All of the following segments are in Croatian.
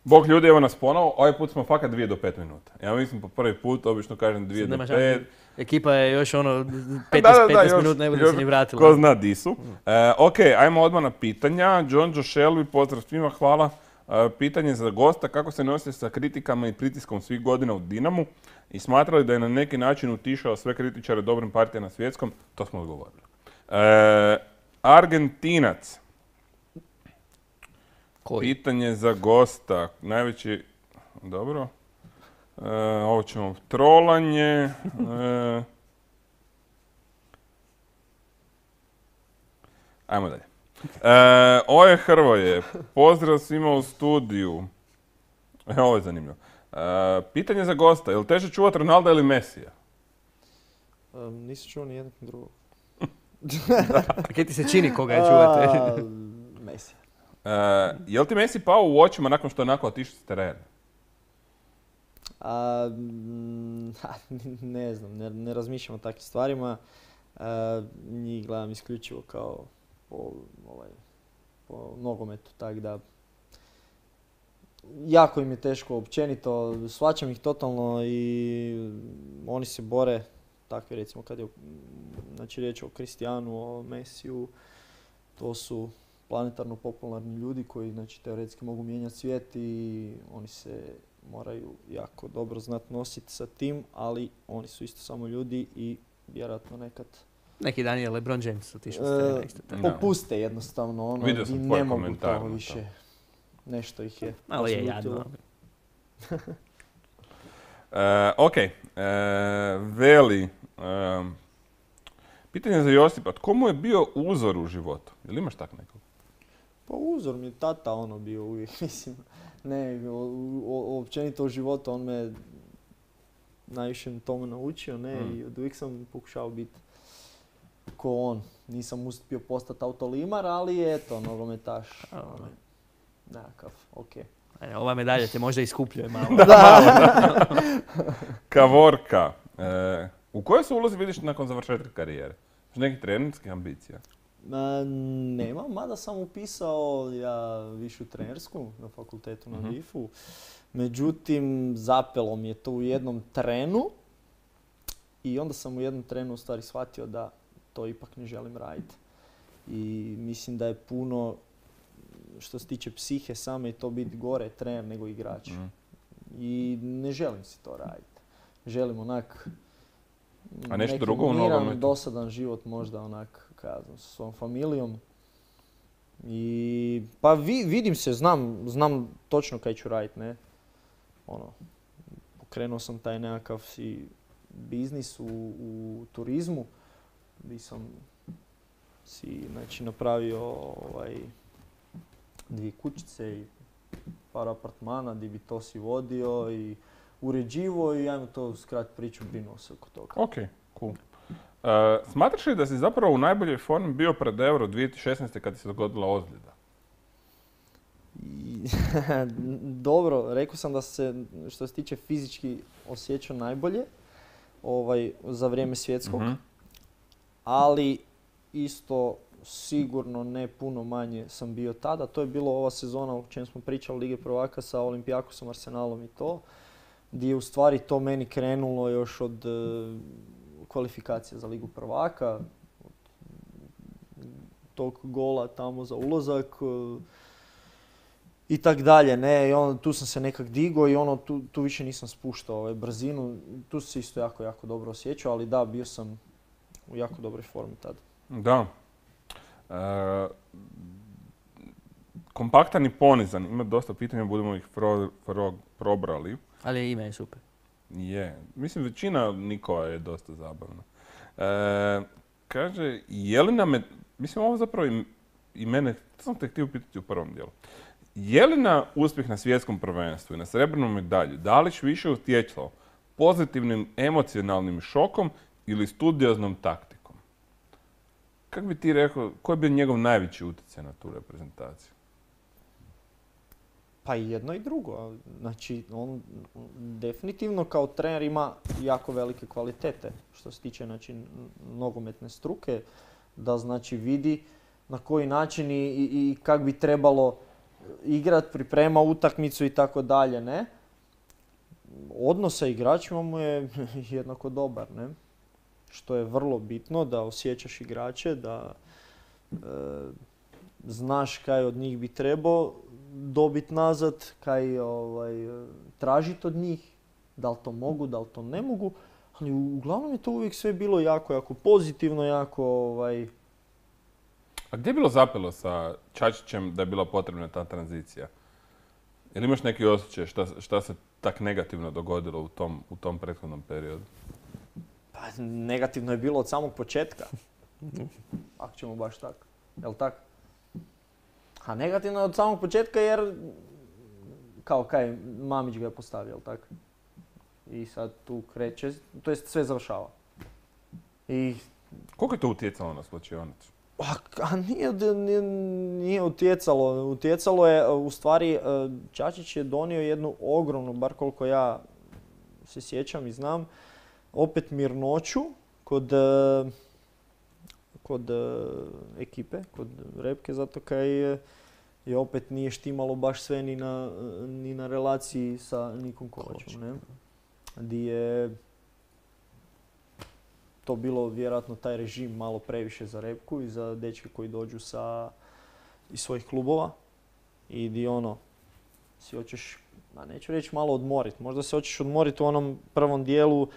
Bog ljudi, evo nas ponovo. Ovaj put smo fakat 2 do 5 minuta. Ja mislim po prvi put, obično kažem 2 do 5. Ekipa je još 15 minuta ne bude se ni vratila. Ko zna di su. Ok, ajmo odmah na pitanja. John Joe Shelby, pozdrav svima, hvala. Pitanje za gosta, kako se nosite sa kritikama i pritiskom svih godina u Dinamu i smatrali da je na neki način utišao sve kritičare dobrim partijama na svjetskom? To smo odgovorili. Argentinac. Koji? Pitanje za gosta. Najveći... Dobro. Ovo ćemo trolanje. Ajmo dalje. Oje Hrvoje, pozdrav svima u studiju. Ovo je zanimljivo. Pitanje za gosta, je li teže čuvati Ronalda ili Mesija? Nisam čuo ni jednog drugog. Kaj ti se čini koga je čuvate? Messi. Je li ti Messi pao u očima nakon što je onako otišao s terena? Ne znam, ne razmišljam o takvim stvarima. Njih gledam isključivo kao po nogometu, tako da jako im je teško općenito, shvaćam ih totalno i oni se bore, takvi recimo kad je riječ o Cristianu, o Messiju, to su planetarno popularni ljudi koji teoretski mogu mijenjati svijet i oni se moraju jako dobro znati nositi sa tim, ali oni su isto samo ljudi i vjerojatno nekad neki dan je LeBron James otišao s terena isto tako. Popuste jednostavno, i ne mogu to više. Nešto ih je. Malo je jadno. Ok, Veli, pitanje za Josipa, tko mu je bio uzor u životu? Jel imaš tak nekog? Pa uzor mi je tata bio uvijek, mislim. Ne, općenito u životu on me najviše tome naučio, ne, i od uvijek sam pokušao biti ko on. Nisam uspio postati autolimar, ali eto, nogometaš. Nekakav, okej. Ova medalja te možda iskupljuje malo. Kavorka, u kojoj se ulozi vidiš nakon završetka karijere? Imaš nekih trenerskih ambicija? Nema, mada sam upisao višu trenersku na fakultetu na DIF-u. Međutim, zapelo mi je to u jednom trenu i onda sam u jednom trenu u stvari shvatio da to ipak ne želim raditi. I mislim da je puno, što se tiče psihe same, to biti gore trener nego igrač. I ne želim si to raditi. Želim onak nešto drugo u miran, nogometu? dosadan život možda onak, sa svojom familijom. I pa vidim se, znam točno kaj ću raditi, ne. Pokrenuo sam taj nekakav biznis u turizmu, gdje sam si napravio 2 kućice i par apartmana gdje bi to si vodio i uređivo i ajmo to skrat priču, brinuo se oko toga. Ok, cool. Smatraš li da si zapravo u najboljoj formi bio pred Euro 2016. kad ti se dogodila ozljeda? Dobro, rekao sam da se, što se tiče fizički, osjećao najbolje za vrijeme svjetskog, ali isto sigurno ne puno manje sam bio tada. To je bilo ova sezona o čem smo pričali, Lige prvaka sa Olimpijakosom, Arsenalom i to, gdje je u stvari to meni krenulo još od kvalifikacije za Ligu prvaka, tog gola tamo za ulazak i tak dalje, ne, i tu sam se nekak digao i tu više nisam spuštao brzinu, tu se isto jako, jako dobro osjećao, ali da, bio sam u jako dobroj formi tada. Da. Kompaktan i ponizan, ima dosta pitanja, budemo ih probrali. Ali ime je super. Je. Mislim, većina Nikova je dosta zabavna. Kaže, Jelena mislim, ovo zapravo i mene, to sam te htio pitati u prvom dijelu. Je li na uspjeh na svjetskom prvenstvu i na srebrnu medalju Dalić više utjecao pozitivnim emocionalnim šokom ili studioznom taktikom? Kako bi ti rekao, koji je bio njegov najveći utjecaj na tu reprezentaciju? Pa i jedno i drugo. Znači, on definitivno kao trener ima jako velike kvalitete što se tiče nogometne struke, da vidi na koji način i kako bi trebalo igrat, priprema utakmicu i tako dalje, ne? Odnos sa igračima mu je jednako dobar, ne? Što je vrlo bitno, da osjećaš igrače, da znaš kaj od njih bi trebao dobiti nazad, kaj tražiti od njih, da li to mogu, da li to ne mogu, ali uglavnom je to uvijek sve bilo jako pozitivno, jako A gdje je bilo zapelo sa Čačićem da je bila potrebna ta tranzicija? Jel imaš neki osjećaj šta se tak negativno dogodilo u tom prethodnom periodu? Pa negativno je bilo od samog početka. Ako ćemo baš tako. Jel tako? A negativno je od samog početka jer kao kaj Mamić ga je postavio, jel tako? I sad tu kreće, to jest sve završava. I koliko je to utjecalo na slačionicu? A nije utjecalo. Utjecalo je, u stvari, Čačić je donio jednu ogromnu, bar koliko ja se sjećam i znam, opet mirnoću kod ekipe, kod Repke, zato kaj je opet nije štimalo baš sve ni na relaciji sa Nikom Kovačom. Ne? Di je to bilo vjerojatno taj režim malo previše za Repku i za dečke koji dođu iz svojih klubova. I di si hoćeš, neću reći malo odmoriti, možda se hoćeš odmoriti u onom prvom dijelu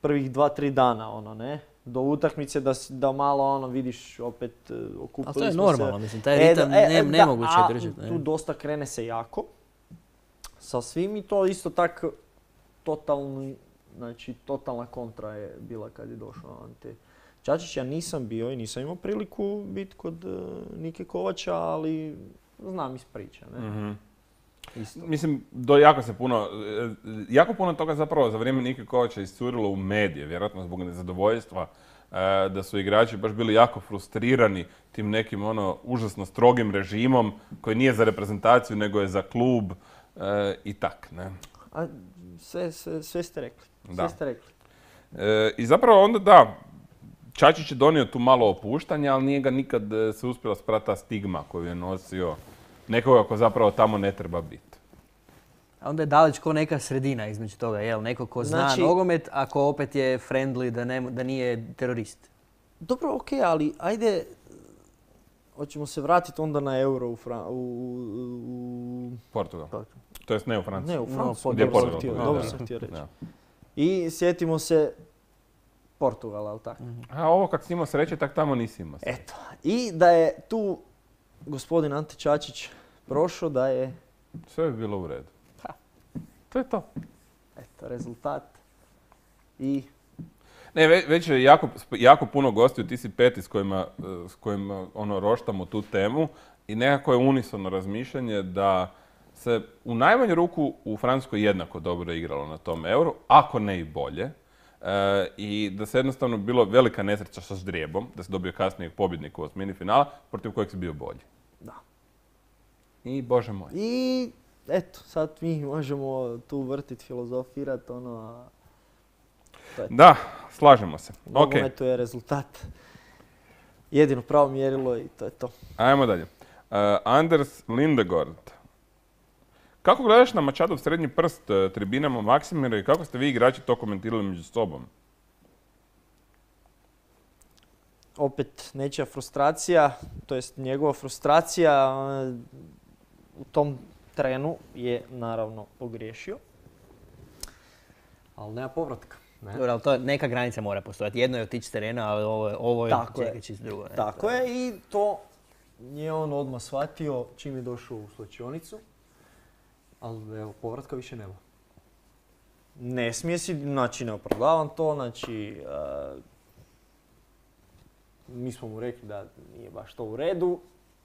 prvih 2-3 dana, ne? Do utakmice da malo vidiš opet okupili smo se. Ali to je normalno, mislim, taj ritam nemoguće držati. Tu dosta krene se jako sa svim i to isto tako totalna kontra je bila kad je došao Ante Čačić. Ja nisam bio i nisam imao priliku biti kod Nike Kovača, ali znam iz priča. Ne? Mm-hmm. Mislim, jako puno toga zapravo za vrijeme Nike Kovača iscurilo u medije, vjerojatno zbog nezadovoljstva, da su igrači baš bili jako frustrirani tim nekim užasno strogim režimom koji nije za reprezentaciju nego je za klub i tak, ne? A sve ste rekli. Da. Sve ste rekli. I zapravo onda Čačić je donio tu malo opuštanja, ali nije ga nikad se uspjela sprati ta stigma koju je nosio nekoga ko zapravo tamo ne treba biti. A onda je Dalić ko neka sredina između toga, jel? Neko ko zna nogomet, a ko opet je friendly, da nije terorist. Dobro, okej, ali ajde, hoćemo se vratiti onda na euro u Portugal. To jest ne u Franciji. Ne, u Franciji. Dobro sam htio reći. I sjetimo se Portugala, ali tako? A ovo kak si imao sreće, tak tamo nisi imao sreće. Eto. I da je tu gospodin Ante Čačić prošao, da je... Sve bi bilo u redu. To je to. Eto, rezultat. I... Ne, već je jako puno gostiju, ti si peti s kojima roštamo tu temu i nekako je unisono razmišljanje da se u najmanju ruku u Francuskoj jednako dobro igralo na tom euru, ako ne i bolje. I da se jednostavno bilo velika nesreća sa ždrijebom, da se dobio kasnijeg pobjednika u osmini finala, protiv kojeg si bio bolji. Da. I bože moj. I eto, sad mi možemo tu vrtiti, filozofirati, Da, slažemo se. Nogometu je rezultat. Jedino pravo mjerilo i to je to. Ajmo dalje. Anders Lindegård. Kako gledaš na Mačadov srednji prst tribinama Maksimira i kako ste vi igrači to komentirali među sobom? Opet nečija frustracija, to jest njegova frustracija u tom trenu je naravno pogriješio, ali nema povratka. Ne? Dobro, ali to neka granica mora postojati. Jedno je otići s terena, ali ovo je čekajući drugo. Ne? Tako je i to je on odmah shvatio čim je došao u slačionicu. Ali evo, povratka više nema. Ne smije si, znači ne opravdavam to, znači mi smo mu rekli da nije baš to u redu,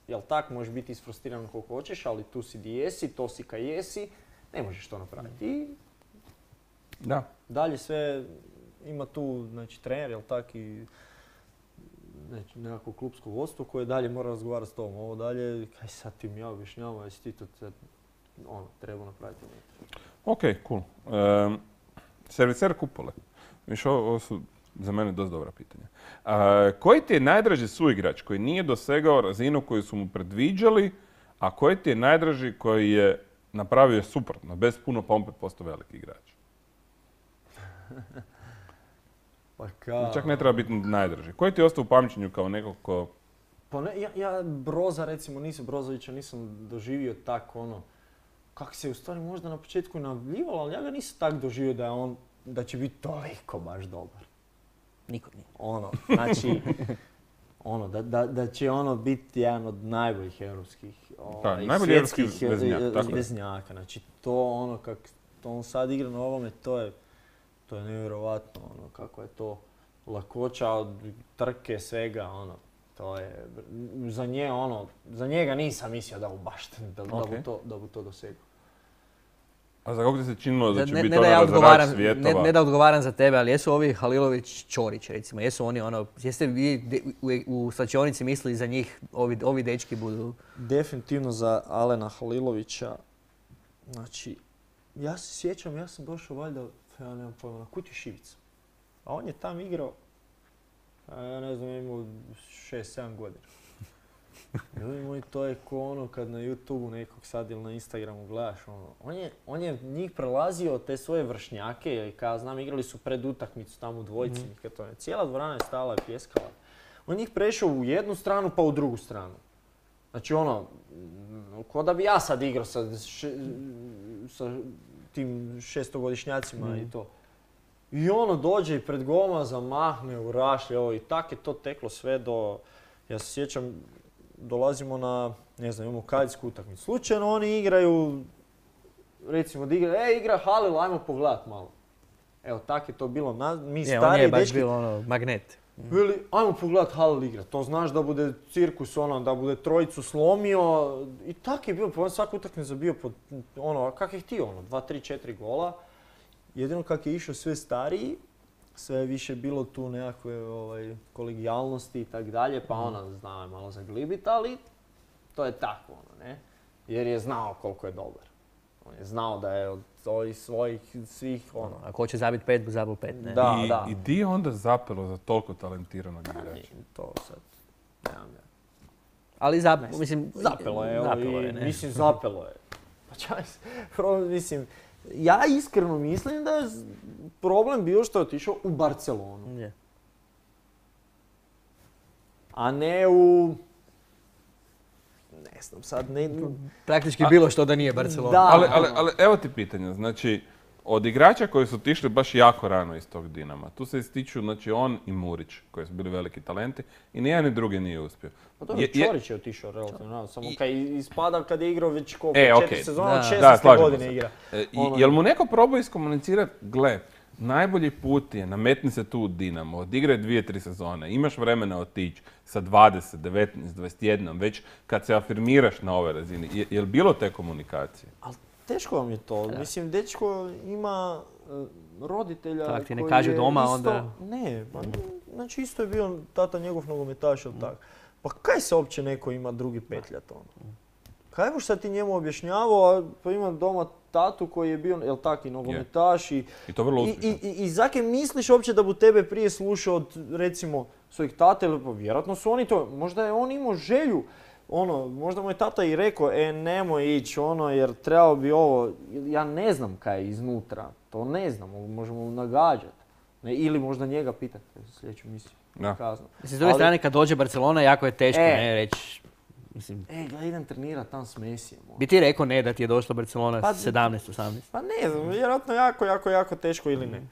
jel tak, možeš biti isfrustriran koliko hoćeš, ali tu si di jesi, to si kaj jesi, ne možeš to napraviti. I da. Dalje sve ima tu, znači trener, jel tak, i znači, nekako klubsko vodstvo koje dalje mora razgovarati s tobom. Ovo dalje, kaj sad ti mi ja objašnjavam, jesi ti to treba napraviti. Ok, cool. Serviser Kupole. Viš, ovo su za mene dosta dobra pitanja. Koji ti je najdraži suigrač koji nije dosegao razinu koju su mu predviđali, A koji ti je najdraži koji je napravio suprotno, bez puno pompe postao veliki igrač? Pa kao... Čak ne treba biti najdraži. Koji ti je ostao u pamćenju kao nekog ko... Pa ne, ja Broza recimo Brozovića nisam doživio tako ono, kako se u stvari možda na početku najavljivalo, ali ja ga nisam tak doživio da će biti toliko baš dobar. Niko nije. Ono, znači, da će ono biti jedan od najboljih europskih, svjetskih veznjaka. Znači to ono kako on sad igra na ovome, to je nevjerojatno ono, kako je to lakoća od trke, svega ono. To je, za njega nisam mislio da bu to dosegao. A za kako ti se činilo da će biti razarač svjetova? Ne da odgovaram za tebe, ali jesu ovi Halilović, Ćorić recimo, jesu oni ono, jeste vi u slačionici mislili za njih, ovi dečki budu? Definitivno za Alena Halilovića. Znači, ja se sjećam, ja sam došao valjda, ja nemam pojma, na Kutiju Šivica. A on je tam igrao, ja ne znam, imao 6-7 godina. Ljudi moji, to je ko ono kad na YouTubeu nekog sad ili na Instagramu gledaš ono. On je njih prelazio te svoje vršnjake, kao znam, igrali su pred utakmicu tamo u dvojici. Cijela dvorana je stala i pjeskala. On njih prešao u jednu stranu pa u drugu stranu. Znači ono, ko da bi ja sad igrao sa tim 600-godišnjacima i to. I ono dođe i pred goma, zamahne u rašlje, i tak je to teklo sve do... Ja se sjećam, dolazimo na, ne znam, imamo kadetsku utakmicu. Slučajno oni igraju, recimo da igra Halil, ajmo pogledat malo. Evo, tak je to bilo, mi stariji dečki... On je baš bilo ono, magnet. Veli, ajmo pogledat Halil igra, to znaš da bude cirkus, ono, da bude trojicu slomio. I tak je bilo, pa on svaku utakmicu bio pod, ono, kak je htio, ono, 2, 3, 4 gola. Jedino kak je išao sve stariji, sve je više bilo tu nekakve kolegijalnosti i tak dalje, pa ona znao je malo zaglibit, ali to je tako, ono, ne? Jer je znao koliko je dobar. On je znao da je od ovih svojih svih, ono... Ako hoće zabiti 5, zabil 5, ne? Da. I di je onda zapelo za toliko talentiranog igrača? To sad, nemam ja. Ali mislim... Zapelo je, ne? Mislim, zapelo je. Pa čaj se, mislim... Ja iskreno mislim da je problem bio što je otišao u Barcelonu. Yeah. A ne u... Ne znam sad, ne... Praktički bilo što da nije Barcelona. Da. Ali evo ti pitanja, znači, od igrača koji su otišli baš jako rano iz tog Dinama, tu se ističu, znači, on i Murić, koji su bili veliki talenti, i nijedan ni drugi nije uspio. Pa dobro, Ćorić je otišao relativno, samo kad ispada kad je igrao već koliko, 4 sezona, od 16. godine igra. Jel mu neko probao iskomunicirati, gle, najbolji put je, nametni se tu u Dinamo, odigraj 2-3 sezone, imaš vremena otići sa 20, 19, 21, već kad se afirmiraš na ove razini. Je li bilo te komunikacije? Ali teško vam je to. Da. Mislim, dečko ima roditelja tak, ti ne kažu doma isto, onda... Ne, pa, znači isto je bio tata njegov nogometaš ili tako. Pa kaj se uopće neko ima drugi petljat ono? Kaj boš sad ti njemu objašnjavao, pa ima doma tatu koji je bio, jel tak, i nogometaš i to vrlo uspješno. I zake misliš uopće da bu tebe prije slušao od, recimo, svojih tata, ili pa vjerojatno su oni to, možda je on imao želju, ono, možda mu je tata i rekao, nemoj ići, ono, jer trebao bi ovo, ja ne znam kaj je iznutra, to ne znam, možemo nagađati. Ili možda njega pitati sljedeću misiju. Mislim, s druge strane, kad dođe Barcelona, jako je teško reći. Mislim, gledaj, idem trenirati tam s Mesijem. Bi ti rekao ne da ti je došla Barcelona 17-18? Pa ne znam, vjerojatno jako teško ili ne.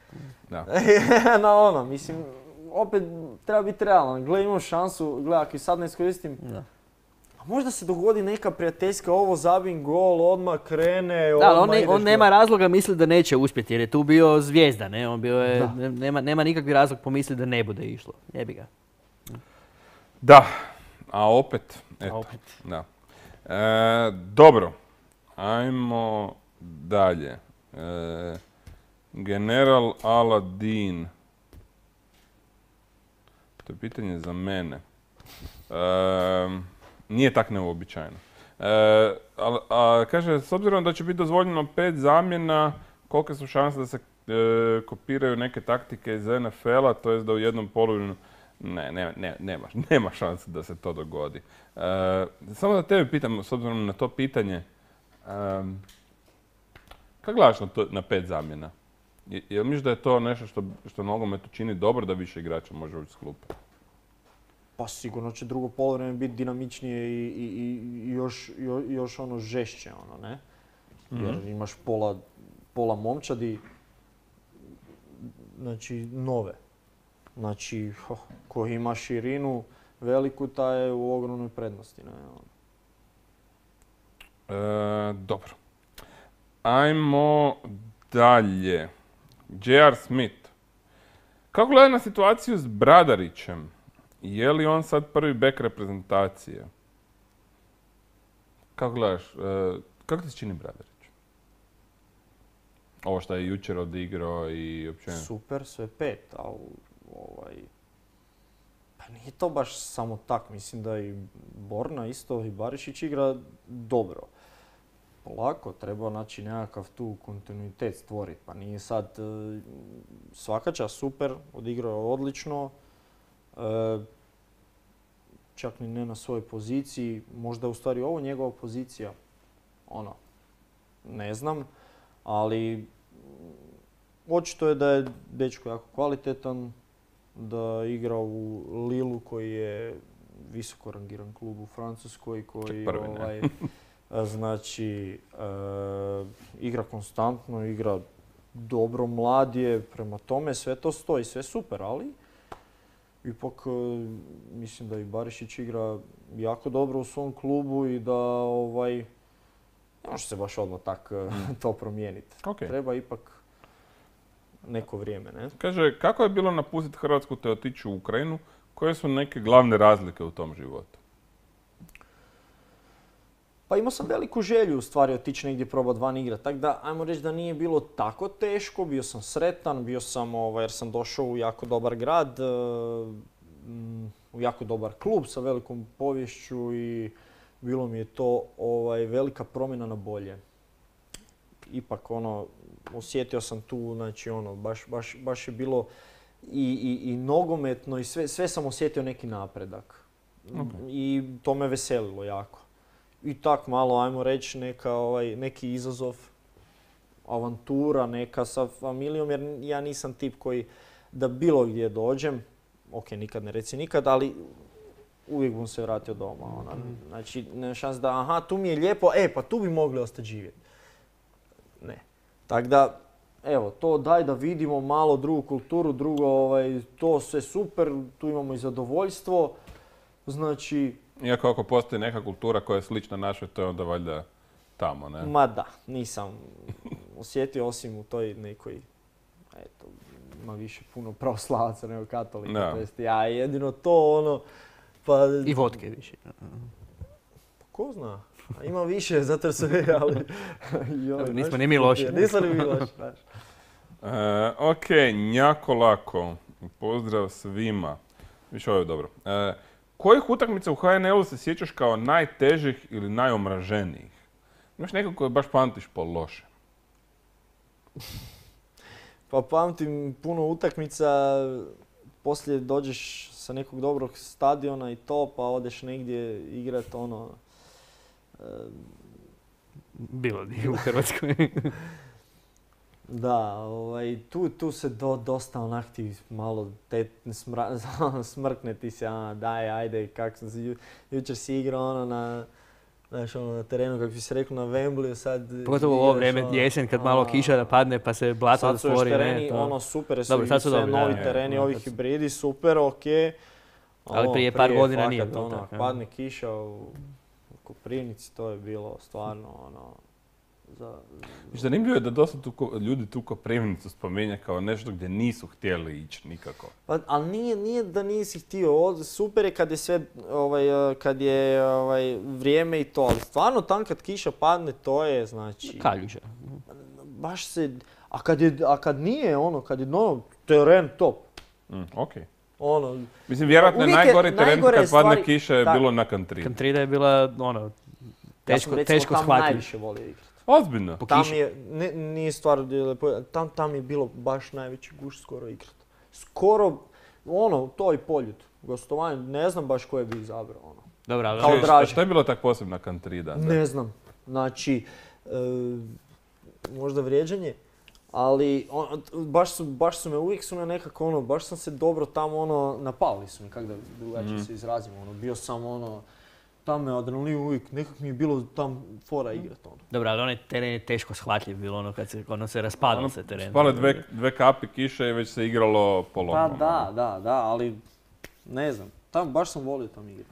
Da. Mislim, opet treba biti realan. Gledaj, imam šansu, gledaj, ako i sad ne iskoristim, a možda se dogodi neka prijateljska, ovo zabim gol, odmah krene, on nema razloga misliti da neće uspjeti jer je tu bio zvijezda, ne? On bio je, nema nikakvi razlog pomisliti da ne bude išlo. Jebi ga. Da, a opet, eto. Da. Dobro, ajmo dalje. General Aladin. To je pitanje za mene. Nije tak neuobičajeno. Kaže, s obzirom da će biti dozvoljeno 5 zamjena, kolike su šanse da se kopiraju neke taktike iz NFL-a, to jest da u jednom poluvremenu Nema šanse da se to dogodi. Samo da tebe pitam, s obzirom na to pitanje, kako gledaš na 5 zamjena? Jel misliš da je to nešto što nogometu čini dobro da više igrača može ući s klupe? Pa sigurno će drugo poluvreme biti dinamičnije i još ono žešće, ono, ne? Jer imaš pola momčadi, znači nove. Znači, ko ima širinu veliku, taj je u ogromnoj prednosti. Ne? Dobro. Ajmo dalje. J.R. Smith. Kako gleda na situaciju s Bradarićem? Je li on sad prvi bek reprezentacije? Kako gledaš? Kako ti se čini Bradarić? Ovo što je jučer odigrao i općenito. Super, sve 5, ali pa nije to baš samo tak. Mislim da i Borna isto i Barišić igra dobro. Polako, treba naći nekakav tu kontinuitet stvoriti. Pa nije sad svaka čast super, odigrao je odlično. Čak ni ne na svojoj poziciji. Možda je u stvari ovo njegova pozicija. Ne znam. Ali očito je da je dečko jako kvalitetan, da igra u Lillu koji je visoko rangiran klub u Francuskoj koji znači igra konstantno, igra dobro, mlad je, prema tome sve to stoji, sve super, ali ipak mislim da i Barišić igra jako dobro u svom klubu i da ne može se baš odmah tak to promijeniti. Okay. Treba ipak neko vrijeme, ne? Kaže, kako je bilo napustiti Hrvatsku te otići u Ukrajinu? Koje su neke glavne razlike u tom životu? Pa imao sam veliku želju u stvari otići negdje probati van igrati. Tako da, ajmo reći da nije bilo tako teško. Bio sam sretan, bio sam, jer sam došao u jako dobar grad, u jako dobar klub sa velikom poviješću i bilo mi je to velika promjena na bolje. Ipak osjetio sam tu, znači baš je bilo i nogometno i sve sam osjetio neki napredak. Okay. I to me veselilo jako. I tak malo, ajmo reći, neki izazov, avantura neka sa familijom, jer ja nisam tip koji da bilo gdje dođem, ok, nikad ne reci nikad, ali uvijek bom se vratio doma. Znači, nema šans da, tu mi je lijepo, pa tu bi mogli ostati živjeti. Ne. Tako da, evo, to daj da vidimo malo drugu kulturu, to sve super, tu imamo i zadovoljstvo. Znači... Iako ako postoji neka kultura koja je slična našoj, to je onda valjda tamo, ne? Ma da, nisam osjetio osim u toj nekoj, ima više puno pravoslavaca nego katolika. No. To jest, ja jedino to pa... I vodke više. Ko zna? Ima više, zato su ali... Nismo ni mi loši. Nismo ni mi loši, znaš. Ok, njako lako. Pozdrav svima. Više ovo je dobro. Kojih utakmica u HNL-u se sjećaš kao najtežih ili najomraženijih? Imaš nekog koje baš pamtiš po loše? Pa pamtim puno utakmica, poslije dođeš sa nekog dobrog stadiona i to, pa odeš negdje igrat Bilo di u Hrvatskoj. Da, tu se dosta onak ti malo smrkne ti se, daj, ajde, kak sam se jučer si igrao na terenu, kako bi se rekao, na Wembleyu sad... Pogotovo u ovo vrijeme jesen kad malo kiša napadne pa se blato da stvori. Sad su još tereni, super su i sve novi tereni, ovi hibridi, super, okej. Ali prije par godina nije bilo tako. Padne kiša u Koprivnici, to je bilo stvarno Zanimljivo je da dosta ljudi tu Koprivnicu spominje kao nešto gdje nisu htjeli ići nikako. Pa, ali nije da nisi htio. Super je kad je sve, kad je vrijeme i to, ali stvarno tam kad kiša padne, to je znači... Kaljuža. Baš se... A kad nije kad je teren top. Okej. Mislim, vjerojatno najgori teren kad padne kiša je bilo na Kantridi. Kantrida je bila, teško shvatiti. Tam najviše volio igrati. Ozbiljno? Tam nije stvar, tam je bilo baš najveći gušt skoro igrat. Skoro, to i Poljud. Gostovanje, ne znam baš koje bi izabrao. Dobro, ali Kao draži. Šta je bilo tak posebna Kantrida? Ne znam. Znači, možda vrijeđanje, ali baš su me, uvijek su me nekako baš sam se dobro tamo napali su mi, kako da drugačije se izrazim, bio sam tamo je adrenalin uvijek, nekako mi je bilo tam fora igrat. Dobro, ali onaj teren je teško shvatljiv bilo, kad se raspadalo se teren. Spale dve kapi kiše i već se igralo polovno. Pa da, ali ne znam, baš sam volio tam igrati.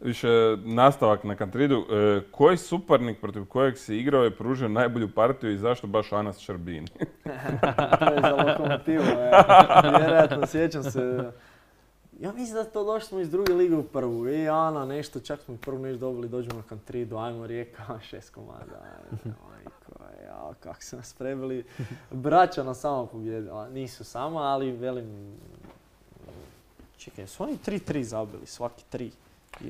Više nastavak na Kantridu. Koji suparnik protiv kojeg si igrao je pružio najbolju partiju i zašto baš Anas Šarbini? To je za Lokomotivu, vjerojatno sjećam se. Ja mislim da to došli smo iz druge lige u prvu. I Ana nešto, čak smo prvu nešto dobili, dođemo na Kantridu, ajmo Rijeka, 6 komada. Kako su nas prebili. Braća nas samo pobjedila. Nisu samo, ali velim... Čekaj, su oni 3-3 zabili, svaki 3.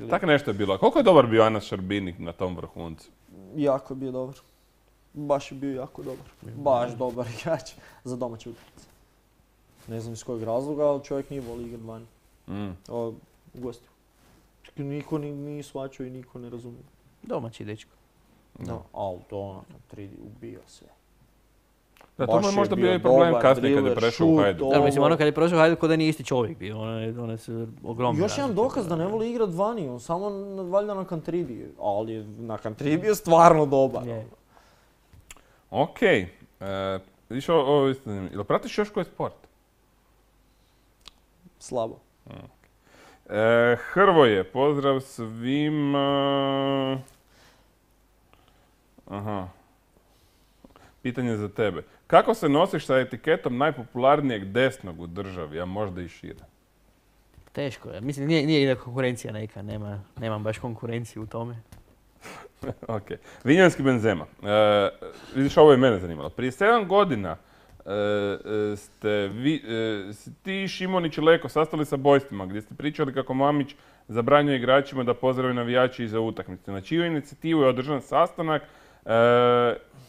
Tako nešto je bilo. Koliko je dobar bio Anas Šarbini na tom vrhuncu? Jako je bio dobar. Baš je bio jako dobar. Baš dobar igrač za domaće utakmice. Ne znam iz kojeg razloga, ali čovjek nije voli igrat vani. U gostiju. Niko nije shvaćao i niko ne razumije. Domaći dečko. Da, ali to ubio sve. Da, to mu je možda bio i problem kasnije kad je prešao u Hajduk. Da, mislim, kad je prešao u Hajduk, da nije isti čovjek bio. One su ogromne. Još jedan dokaz da ne voli igrat vani, on samo valjda na Kantridi. Ali na Kantridi je stvarno dobar. Okej. Vidiš, ovo je zanimljivo. Jel pratiš još koji sport? Slabo. Hrvoje, pozdrav svima. Aha. Pitanje za tebe. Kako se nosiš sa etiketom najpopularnijeg desnog u državi, a možda i šire? Teško je. Mislim, nije konkurencija neka. Nemam baš konkurenciju u tome. Ok. Vinjanski Benzema. Vidiš, ovo je mene zanimalo. Prije 7 godina ste ti, Šimonić i Leko sastali sa bojstvima gdje ste pričali kako Mamić zabranjuje igračima da pozdrave navijači iza utakmice. Na čiju inicijativu je održan sastanak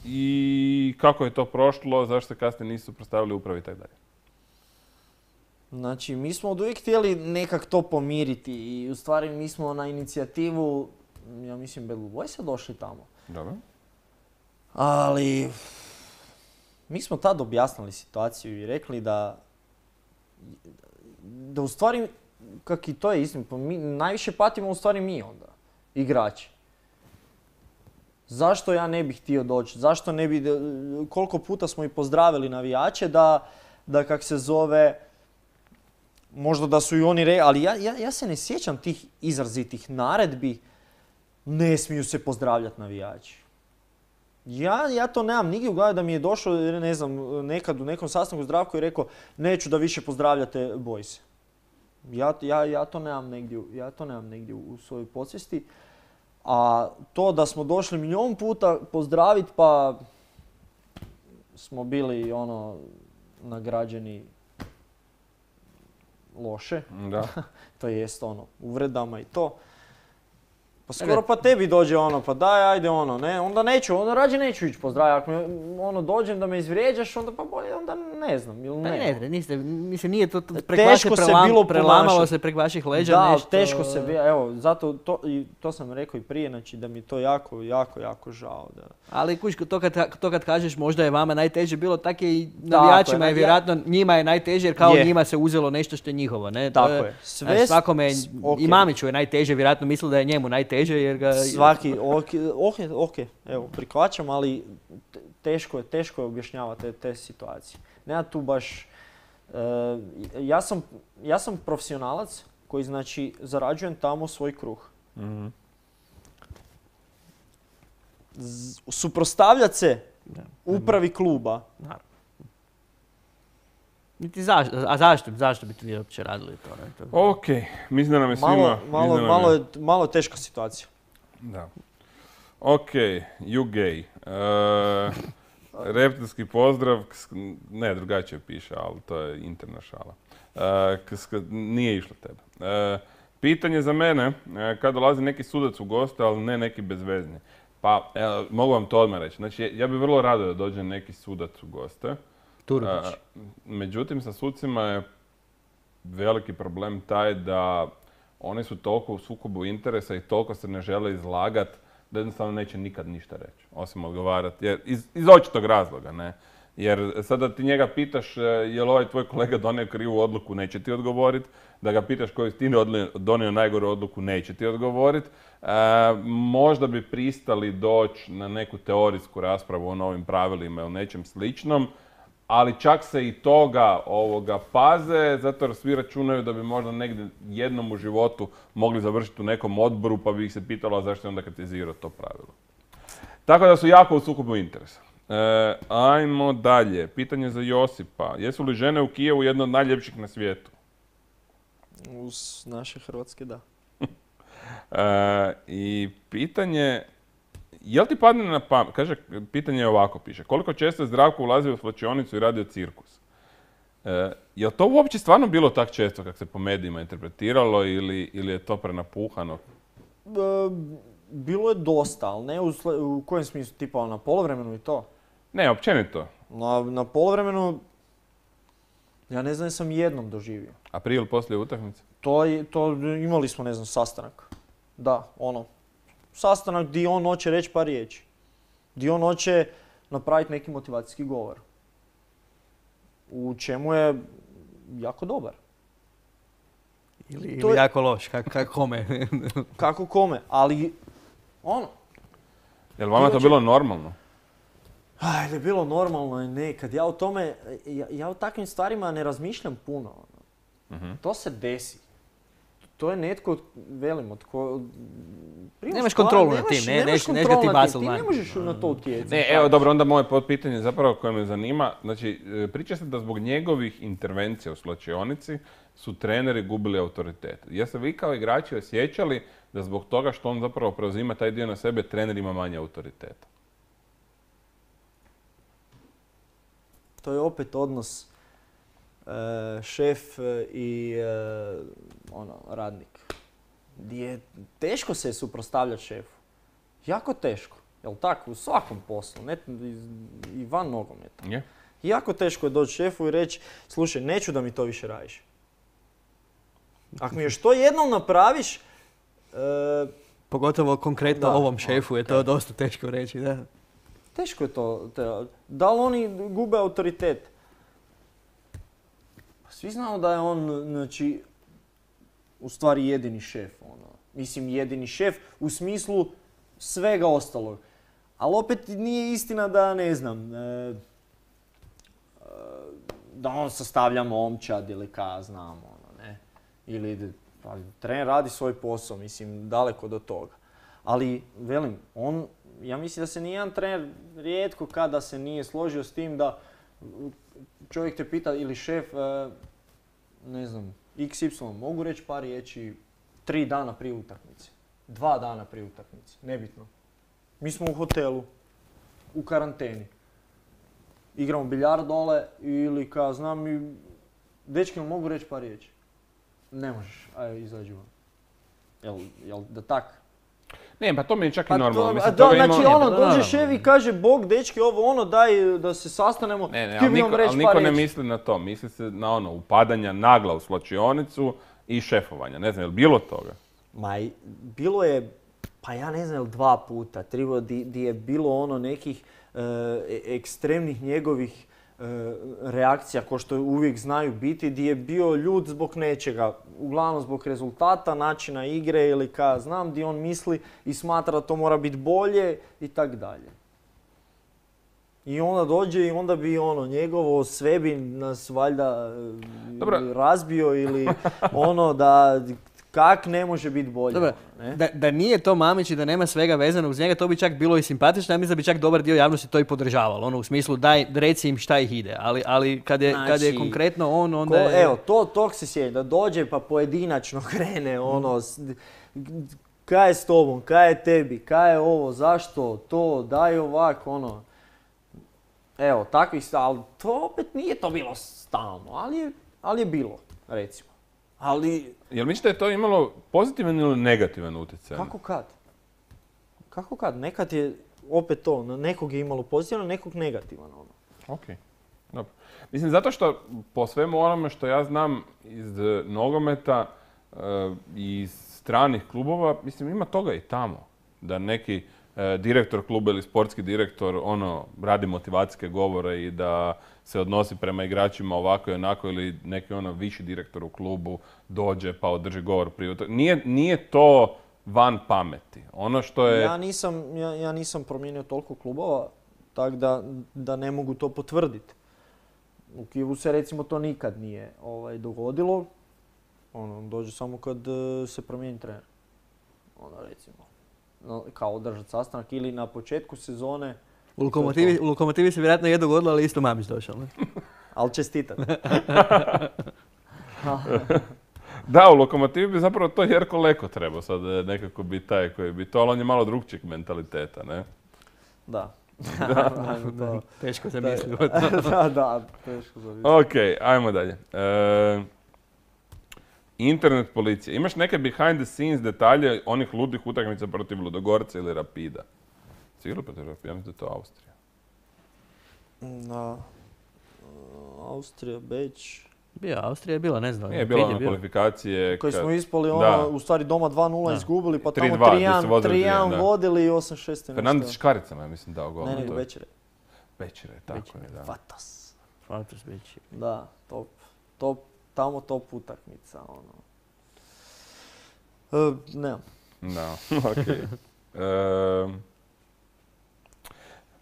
i kako je to prošlo, zašto se kasnije nisu prostavili upravi i tako dalje? Znači, mi smo od uvijek htjeli nekak to pomiriti i u stvari mi smo na inicijativu, ja mislim, Bad Blue Boysa došli tamo. Dobro. Ali, mi smo tad objasnili situaciju i rekli da u stvari, kak i to je istina, pa mi najviše patimo u stvari mi onda, igrači. Zašto ja ne bih htio doći? Zašto ne bi, koliko puta smo i pozdravili navijače da kak se zove, možda da su i oni rekli, ali ja se ne sjećam tih izrazitih naredbi, ne smiju se pozdravljati navijači. Ja to nemam nigdje u glavi da mi je došlo, ne znam, nekad u nekom sastanku Zdravko je rekao neću da više pozdravljate bojse. Ja to nemam negdje u svojoj podsvijesti. A to da smo došli milijon puta pozdraviti pa smo bili nagrađeni loše. Da. To jest uvredama i to. Pa skoro pa tebi dođe pa daj ajde ne, onda neću, onda rađe neću ići pozdraviti. Ako dođem da me izvrijeđaš, onda pa bolje, onda ne znam ili ne. Mislim, nije to prek vaše prelamalo se prek vaših leđa da, nešto. Da, teško se bilo, evo, zato to sam rekao i prije, znači da mi je to jako žao. Da. Ali kuć, to kad kažeš možda je vama najteže bilo, tako i navijačima je vjerojatno, njima je najteže jer kao njima se uzelo nešto što je njihovo, ne? Tako je. Svakome, i Mamiću je najteže, vjerojatno misli da je njemu najteže jer ga... Svaki, ok, evo, prihvaćam, ali teško je objašnjavati te situacije. Nema tu baš... Ja sam profesionalac koji, znači, zarađujem tamo svoj kruh. Mm-hmm. Suprotstavljati se upravi kluba. Naravno. A zašto bi ti uopće radili to? Ok, mislim da nam je svima... Malo teška situacija. Da. Ok, you gay. Reptilski pozdrav, ne, drugačije piše, ali to je interna šala. Nije išlo tebe. Pitanje za mene, kad dolazi neki sudac u goste, ali ne neki bezvezni. Pa, mogu vam to odmah reći. Znači, ja bih vrlo rado da dođe neki sudac u goste. Turudić. Međutim, sa sucima je veliki problem taj da oni su toliko u sukobu interesa i toliko se ne žele izlagati da jednostavno neće nikad ništa reći, osim odgovarati. Jer, iz očitog razloga, ne? Jer sada ti njega pitaš je li ovaj tvoj kolega donio krivu odluku, neće ti odgovoriti. Da ga pitaš koji si ti donio najgoru odluku, neće ti odgovoriti. Možda bi pristali doći na neku teorijsku raspravu o novim pravilima ili nečem sličnom, ali čak se i toga paze, zato jer svi računaju da bi možda negdje jednom u životu mogli završiti u nekom odboru, pa bi ih se pitalo zašto je onda kritizirao to pravilo. Tako da su jako u sukobu interesa. Ajmo dalje. Pitanje za Josipa. Jesu li žene u Kijevu jedno od najljepših na svijetu? Uz naše Hrvatske, da. I pitanje, jel ti padne na pamet, kaže, pitanje je ovako piše, koliko često je Zdravko ulazio u svlačionicu i radio cirkus? Je li to uopće stvarno bilo tak često kako se po medijima interpretiralo ili je to prenapuhano? Bilo je dosta, ali ne u kojem smislu, tipa na poluvremenu i to? Ne, općenito. Na poluvremenu, ja ne znam, sam jednom doživio. A prije ili poslije utakmice? To imali smo, ne znam, sastanak. Da, sastanak gdje on hoće reći par riječi. Gdje on hoće napraviti neki motivacijski govor. U čemu je jako dobar. Ili jako loš, kako kome. Kako kome, ali Je li vama to bilo normalno? Je bilo normalno i nekad. Ja o takvim stvarima ne razmišljam puno. To se desi. To je netko, velim, nemaš kontrolu nad tim, neška ti bacil ti ne možeš na to utjecati. Ne, evo dobro, onda moje potpitanje zapravo koje me zanima. Znači, priča se da zbog njegovih intervencija u svlačionici su treneri gubili autoritet. Jeste vi kao igrači osjećali da zbog toga što on zapravo preuzima taj dio na sebe, trener ima manje autoriteta? To je opet odnos šef i radnik. Gdje teško se suprotstavljati šefu. Jako teško. Jel tako? U svakom poslu. I van nogometa. Yeah. Jako teško je doći šefu i reći, slušaj, neću da mi to više radiš. Ako mi još to jednom napraviš... Pogotovo konkretno ovom šefu je to dosta teško reći, da. Teško je to. Da li oni gube autoritet? Svi znamo da je on, znači, u stvari jedini šef. Mislim, jedini šef u smislu svega ostalog. Ali opet nije istina da, ne znam, da on sastavlja momčad ili znam, ne. Ili trener radi svoj posao, mislim, daleko do toga. Ali, velim, ja mislim da se nijedan trener rijetko kada se nije složio s tim da čovjek te pita ili šef, ne znam, XY, mogu reći par riječi 3 dana prije utakmice, 2 dana prije utakmice, nebitno. Mi smo u hotelu, u karanteni. Igramo biljard dole ili dečki mogu reći par riječi. Ne možeš, ajde izađi van. Jel da tak? Ne, pa to mi je čak i normalno. Znači dođe šef i kaže, Bog, dečki, daj da se sastanemo. Ali niko ne misli na to. Misli se na upadanja nagla u svlačionicu i šefovanja. Ne znam, je li bilo toga? Bilo je, pa ja ne znam, 2 puta, 3 di je bilo nekih ekstremnih njegovih reakcija, ko što uvijek znaju biti, di je bio ljud zbog nečega, uglavnom zbog rezultata, načina igre ili di on misli i smatra da to mora biti bolje i tak dalje. I onda dođe i onda bi njegovo sve bi nas valjda razbio ili da kak ne može biti bolje. Dobro, da nije to Mamić i da nema svega vezano uz njega, to bi čak bilo i simpatično. Ja mislim da bi čak dobar dio javnosti to i podržavalo. U smislu, daj, reci im šta ih ide. Ali kad je konkretno onda je... Evo, tog se sjeća, da dođe pa pojedinačno krene, kaj je s tobom, kaj je tebi, kaj je ovo, zašto, to, daj ovak, Evo, takvih stvari, ali to opet nije to bilo stalno, ali je bilo, recimo. Jel mislite da je to imalo pozitivan ili negativan utjecaj? Kako kad? Nekad je opet to, nekog je imalo pozitivan, nekog negativan. Ok. Dobro. Mislim, zato što po svemu onome što ja znam iz nogometa i iz stranih klubova, mislim, ima toga i tamo. Da neki direktor kluba ili sportski direktor radi motivacijske govore i da se odnosi prema igračima ovako i onako, ili neki viši direktor u klubu dođe pa održi govor prije. Nije to van pameti. Ono što je... Ja nisam promijenio toliko klubova, tako da ne mogu to potvrditi. U Kijevu se recimo to nikad nije dogodilo. Dođe samo kad se promijeni trener. Recimo. Kao održati sastanak ili na početku sezone. U Lokomotivi se vjerojatno je dogodilo, ali isto Mamić došao. Ne? Ali čestitam. Da, u Lokomotivi bi zapravo to Jerko Leko trebao sad nekako biti taj koji bi to, ali on je malo drugčijeg mentaliteta, ne? Da. Teško zamislio. Da, teško zamislio. Ok, ajmo dalje. Internet policija. Imaš neke behind the scenes detalje onih ludih utakmica protiv Ludogorca ili Rapida? Sigurno protiv Rapida, ja mislim da je to Austrija. Austrija, Beč. Austrija je bila, ne znam. Nije bila kvalifikacije. Koji smo ispali u stvari doma 2-0 izgubili, pa tamo 3-1 vodili i 8-6. Fernandez Škaricama, ja mislim, dao gol. Ne, nego Bečire. Bečire, tako je, da. Fatos Bečire. Da, tamo top utakmica, ne. Da, okej.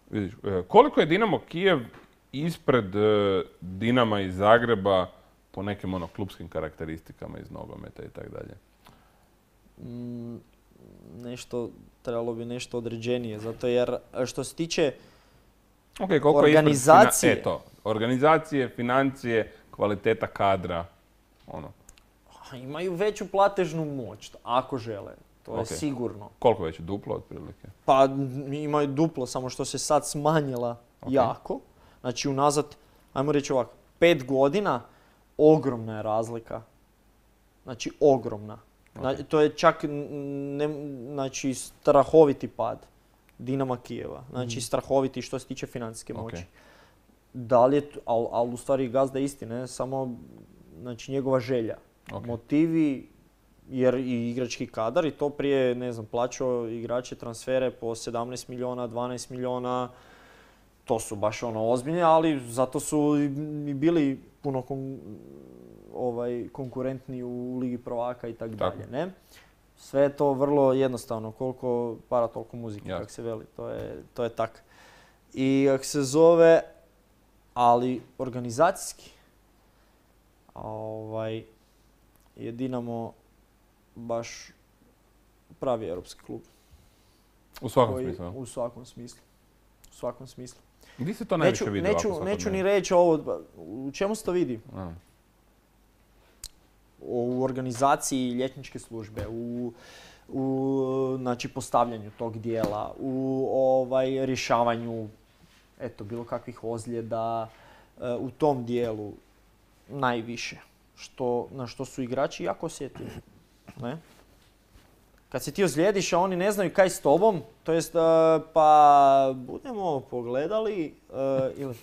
Vidiš, koliko je Dinamo Kijev ispred Dinama iz Zagreba po nekim klubskim karakteristikama iz nogometa i tako dalje? Trebalo bi nešto određenije, zato jer što se tiče organizacije... Organizacije, financije, kvaliteta kadra, Imaju veću platežnu moć, ako žele. To je sigurno. Koliko veće? Duplo otprilike? Pa imaju duplo, samo što se sad smanjila jako. Znači unazad, ajmo reći ovako, 5 godina ogromna je razlika. Znači ogromna. Znači, to je čak strahoviti pad Dinama Kijeva. Znači strahoviti što se tiče financijske moći. Da li je, ali u stvari gazda je isti, ne? Samo njegova želja. Motivi, jer i igrački kadar i to prije, plaćao igrače transfere po 17 milijuna, 12 milijuna. To su baš ozbiljne, ali zato su i bili puno konkurentni u Ligi prvaka i tako dalje, ne? Sve je to vrlo jednostavno, koliko para toliko muzike, kako se veli, to je tak. I kako se zove, ali organizacijski, je Dinamo baš pravi europski klub. U svakom smislu? U svakom smislu. U svakom smislu. Gdje se to najviše vidi? Neću ni reći ovo, u čemu se to vidi? U organizaciji ljetničke službe, u postavljanju tog dijela, u rješavanju bilo kakvih ozljeda, u tom dijelu najviše. Na što su igrači jako osjetljivi. Ne? Kad se ti ozlijediš, a oni ne znaju kaj s tobom, to jest pa budemo pogledali ili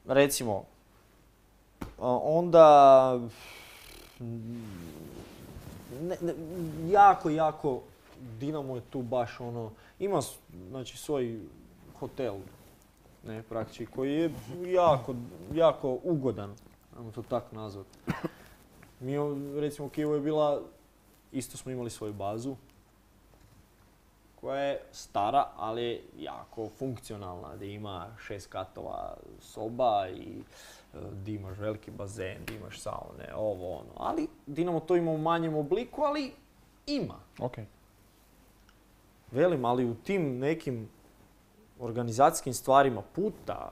recimo onda jako Dinamo je tu baš ima svoj hotel, ne, praktički, koji je jako ugodan, ajmo to tako nazvati. Mi, recimo, u Kijevu je bila, isto smo imali svoju bazu, koja je stara, ali jako funkcionalna, gdje ima 6 katova soba i gdje imaš veliki bazen, gdje imaš saune, Ali Dinamo to ima u manjem obliku, ali ima. Velim, ali u tim nekim organizacijskim stvarima puta,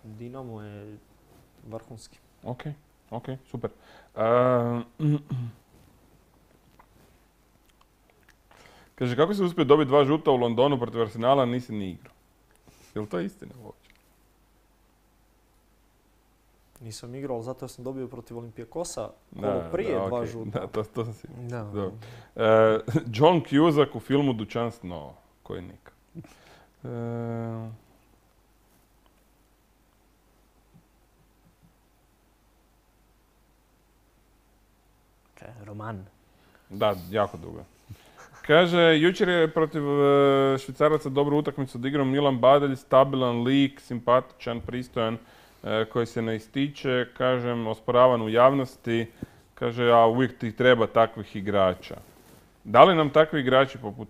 Dinamo je vrhunski. Ok, super. Kaže, kako si uspio dobiti 2 žuta u Londonu protiv Arsenala, a nisi ni igrao? Je li to istina uopće? Nisam igrao, ali zato sam dobio protiv Olimpijakosa prije 2 žuta. Da, to sam sigurno. John Cusack u filmu Dućan snova, koji nikad. Roman. Da, jako dugo. Kaže, jučer je protiv Švicaraca dobru utakmicu odigrao Milan Badelj, stabilan lik, simpatičan, pristojan, koji se ne ističe, kažem, osporavan u javnosti. Kaže, a uvijek ti treba takvih igrača. Da li nam takvi igrači poput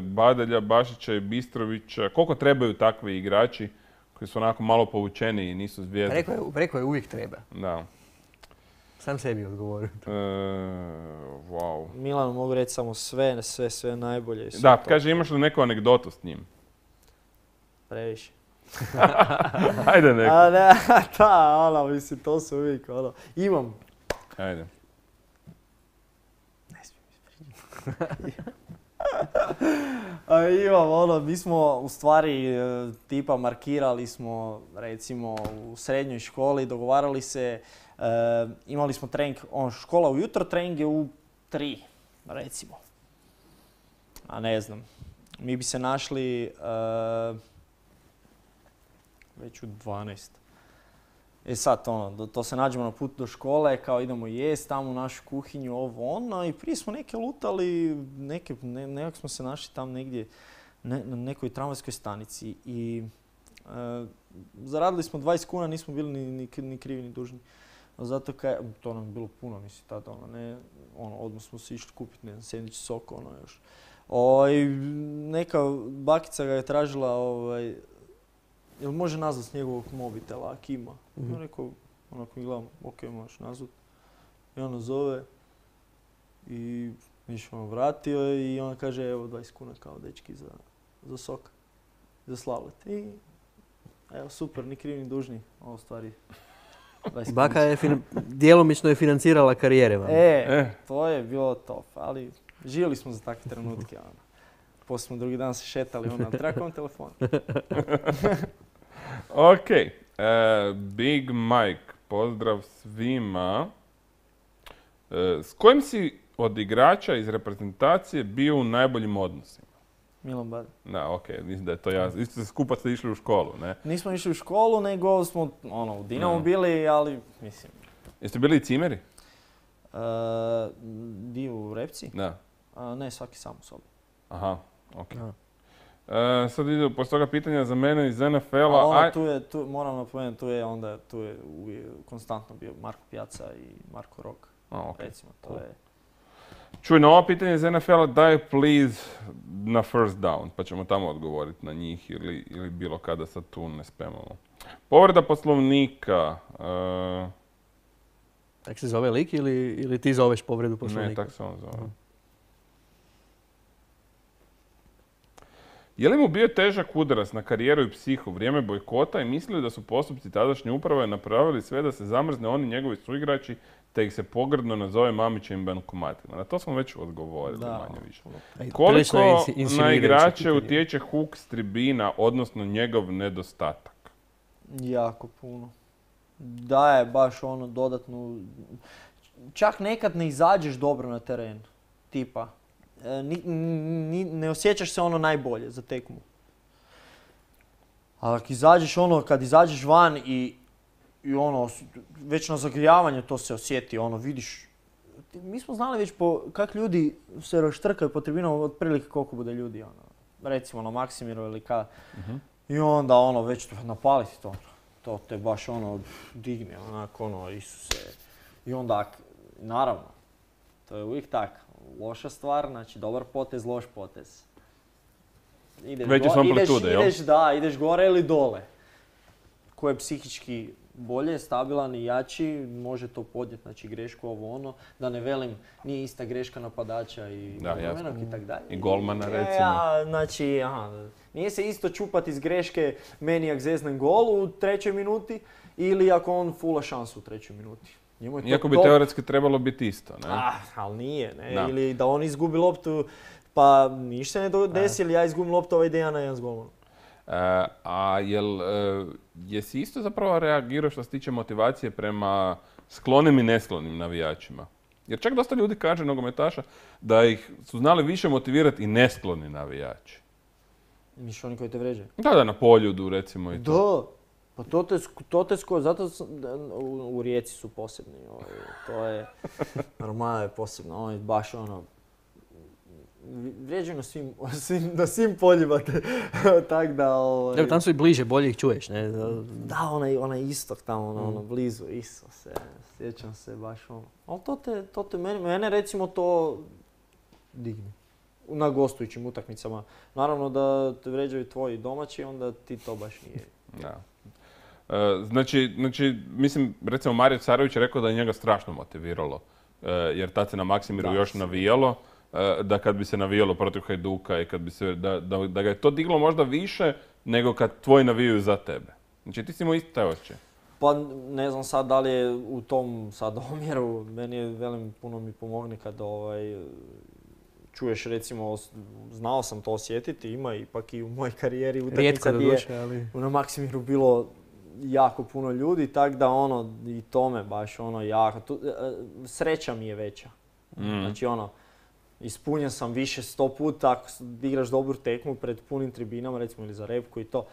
Badelja, Bašića i Bistrovića, koliko trebaju takvi igrači koji su onako malo povučeni i nisu zvijezde? Rekao je uvijek treba. Da. Sam sebi odgovorio. Wow. Milanu mogu reći samo sve najbolje. Da, kaže, imaš li neku anegdotu s njim? Previše. Ajde neko. A ne, mislim, to se uvijek, imam. Ajde. Ne smijem ispričati. Imam, mi smo u stvari tipa markirali smo, recimo, u srednjoj školi, dogovarali se, imali smo trening, škola ujutro, trening je u 3, recimo. A ne znam, mi bi se našli već u 12. Sad, to se nađemo na put do škole, kao idemo jest tamo u našu kuhinju, i prije smo neke lutali, nekako smo se našli tam negdje na nekoj tramvajskoj stanici i zaradili smo 20 kuna, nismo bili ni krivi ni dužni. Zato to nam je bilo puno, mislim, tada, odmah smo se išli kupiti, ne znam, sendvič, sok, još. Neka bakica ga je tražila, jel može nazvat s njegovog mobitela, ako ima? Ja rekao, onako mi gledam, ok, možeš nazvat. I ona zove i ništa vratio i ona kaže, evo 20 kuna kao dečki za sok, za slavlet. I evo, super, ni krivi ni dužni, ovo stvari. Baka je djelomično je financirala karijere vam. To je bilo top, ali živjeli smo za takve trenutke. Poslije smo drugi dan se šetali, treba kom telefon. Ok, Big Mike, pozdrav svima. S kojim si od igrača iz reprezentacije bio u najboljim odnosima? Milan Badelj. Da, ok, mislim da je to jasno. Isto se skupa ste išli u školu, ne? Nismo išli u školu, nego smo u Dinamu bili, ali mislim... Jeste bili i cimeri? Dio u Repci? Da. Ne, svaki sam u sobi. Aha, ok. Sad ide poslije toga pitanja za mene iz NFL-a. Tu moram napomenuti, tu je konstantno bio Marko Pjaca i Marko Rok. Okay. Recimo, to je... Čuj, na ovo pitanje iz NFL-a daj please na first down, pa ćemo tamo odgovoriti na njih ili bilo kada sad tu ne spamamo. Povreda poslovnika. Tak se zove lik ili ti zoveš povredu poslovnika? Ne, tak se on zove. Je li mu bio težak udarac na karijeru i psihu vrijeme bojkota i mislili da su postupci tadašnje uprave napravili sve da se zamrzne oni njegovi suigrači te ih se pogrdno nazove Mamićevim bankomatima? Na to smo već odgovorili, manje više. Koliko na igrače utječe huk s tribina, odnosno njegov nedostatak? Jako puno. Daje baš dodatnu... Čak nekad ne izađeš dobro na teren, tipa. Ne osjećaš se najbolje za tekmu. Ali kad izađeš van i već na zagrijavanju to se osjeti, vidiš. Mi smo znali već kak ljudi se raštrkaju po tribinama, otprilike koliko bude ljudi, recimo na Maksimiru ili kada. I onda već napaliti to. To te baš digne, Isuse. I onda, naravno, to je uvijek tako. Loša stvar, znači dobar potez, loš potez. Veće su amplitude, jel? Ideš gore ili dole. Ko je psihički bolje, stabilan i jači, može to podnijeti, znači grešku da ne velim, nije ista greška napadača i golmanog i tak dalje. I golmana, recimo. Znači, nije se isto čupati iz greške manijak zeznen gol u 3. minuti ili ako on fula šansu u 3. minuti. Iako bi teoretski trebalo biti isto, ne? Ali nije, ne? Da. Ili da on izgubi loptu, pa ništa ne desi, ili ja izgubim loptu, ovaj ide ja na jedan s golmanom. Jesi isto zapravo reagirao što se tiče motivacije prema sklonim i nesklonim navijačima? Jer čak dosta ljudi kaže, nogometaša, da ih su znali više motivirati i neskloni navijači. Misliš oni koji te vređaju? Da, na Poljudu recimo i to. Pa zato u Rijeci su posebni. To je, normalno je posebno. Baš vrijeđaju na svim poljima. Tak da... Evo, tam su i bliže, bolje ih čuješ, ne? Da, onaj istok tamo, blizu, Isuse. Sjećam se baš Ali mene recimo to digne. Na gostujućim utakmicama. Naravno da te vrijeđaju tvoji domaći, onda ti to baš nije. Da. Znači, mislim, recimo Mario Carović je rekao da je njega strašno motiviralo. Jer tad se na Maksimiru još navijalo. Da kad bi se navijalo protiv Hajduka i kad bi se, da ga je to diglo možda više nego kad tvoji navijaju za tebe. Znači ti si imao isto taj osjećaj. Pa ne znam sad da li je u tom sad omjeru, meni je puno mi pomogne kad čuješ recimo, znao sam to osjetiti, ima ipak i u mojoj karijeri utakmica gdje je na Maksimiru bilo jako puno ljudi, tako da i to me baš jako, sreća mi je veća. Znači ispunjen sam više 100 puta ako igraš dobru tekmu pred punim tribinama, recimo ili za repku i to.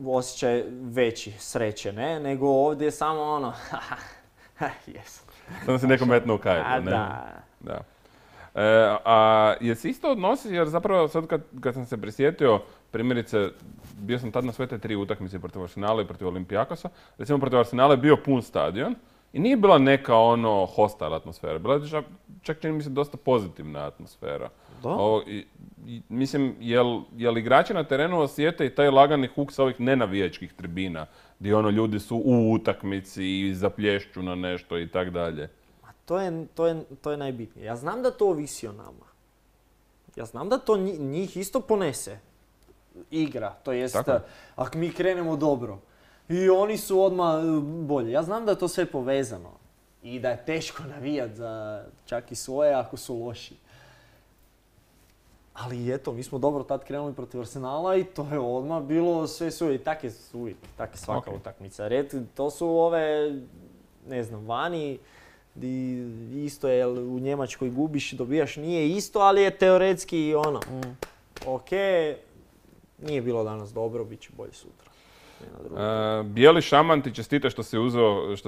Osjećaj veći sreće, ne? Nego ovdje je samo jesam. Samo si neko metno u kajlu, ne? Da. A jesi isto odnosi, jer zapravo sad kad sam se prisjetio, primjerice, bio sam tad na sve te 3 utakmice protiv Arsenala i protiv Olimpijakosa. Recimo protiv Arsenala je bio pun stadion i nije bila neka hostile atmosfera. Bila je čak čini mi se dosta pozitivna atmosfera. Mislim, jel igrači na terenu osjete i taj lagani huk sa ovih nenavijačkih tribina, gdje ljudi su u utakmici i zaplješću na nešto i tak dalje? To je najbitnije. Ja znam da to ovisi o nama. Ja znam da to njih isto ponese. Igra, to jest ako mi krenemo dobro. I oni su odmah bolje. Ja znam da je to sve povezano. I da je teško navijat za čak i svoje ako su loši. Ali eto, mi smo dobro tad krenuli protiv Arsenala i to je odmah bilo sve suje. I tak je svaka utakmica. To su ove, ne znam, vani, isto je u Njemačkoj gubiš, dobijaš, nije isto, ali je teoretski ok, nije bilo danas dobro, bit će bolje sutra. Bijeli šaman ti čestita što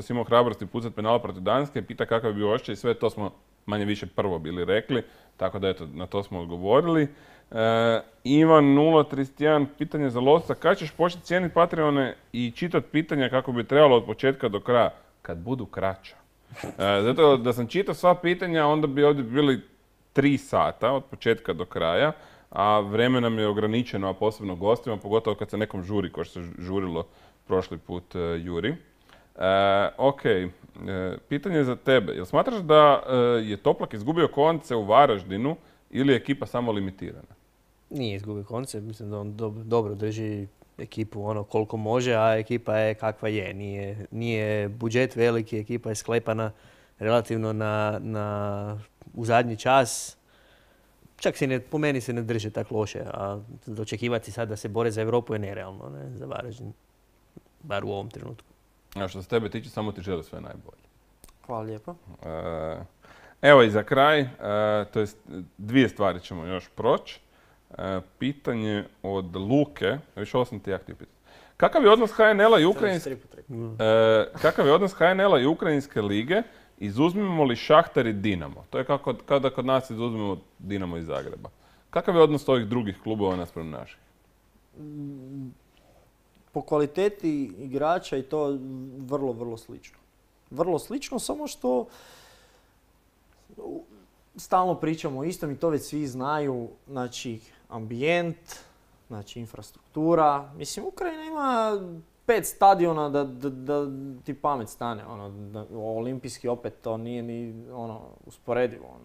si imao hrabrosti pucat penala protiv Danske, pita kakav je bio osjećaj i sve to smo manje više prvo bili rekli, tako da eto, na to smo odgovorili. Ivan 031, pitanje za lovca, kada ćeš početi cijeniti Patreone i čitati pitanja kako bi trebalo od početka do kraja, kad budu kraća? Zato da sam čitao sva pitanja, onda bi ovdje bili 3 sata od početka do kraja, a vrijeme nam je ograničeno, a posebno gostima, pogotovo kad se nekom žuri, kao što se žurilo prošli put Juri. Ok, pitanje za tebe. Jel smatraš da je Toplak izgubio konce u Varaždinu ili je ekipa samo limitirana? Nije izgubio konce, mislim da on dobro drži ekipu koliko može, a ekipa je kakva je. Nije budžet veliki, ekipa je sklepana relativno u zadnji čas. Čak po meni se ne drže tako loše, a očekivati sad da se bore za Europu je nerealno, za Varaždin, bar u ovom trenutku. A što se tebe tiče, samo ti želim sve najbolje. Hvala lijepo. Evo i za kraj, to jest 2 stvari ćemo još proći. Pitanje od Luke, više ovo sam ti ja htio pitati. Kakav je odnos HNL-a i Ukrajinske lige? Izuzmimo li Šahtar i Dinamo? To je kao da kod nas izuzmemo Dinamo iz Zagreba. Kakav je odnos ovih drugih klubova naspram naših? Po kvaliteti igrača i to vrlo, vrlo slično. Vrlo slično, samo što stalno pričamo o istom i to već svi znaju. Znači, ambijent, znači infrastruktura. Mislim, Ukrajina ima 5 stadiona da ti pamet stane. Olimpijski opet to nije ni usporedivo.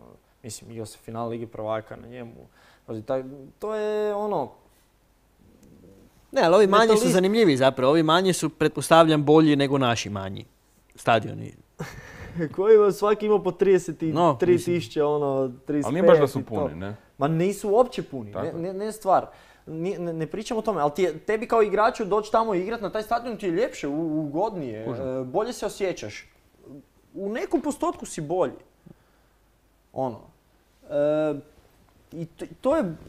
Mislim, igrao se final Lige prvaka na njemu. To je Ne, ali ovi manji su zanimljivi zapravo. Ovi manji su, pretpostavljam, bolji nego naši manji stadioni. Koji svaki ima po 33 35. Ali nije baš da su puni, ne? Ma nisu uopće puni, ne stvar. Ne pričamo o tome, ali tebi kao igraču doći tamo i igrat na taj stadion ti je ljepše, ugodnije, bolje se osjećaš. U nekom postotku si bolji. I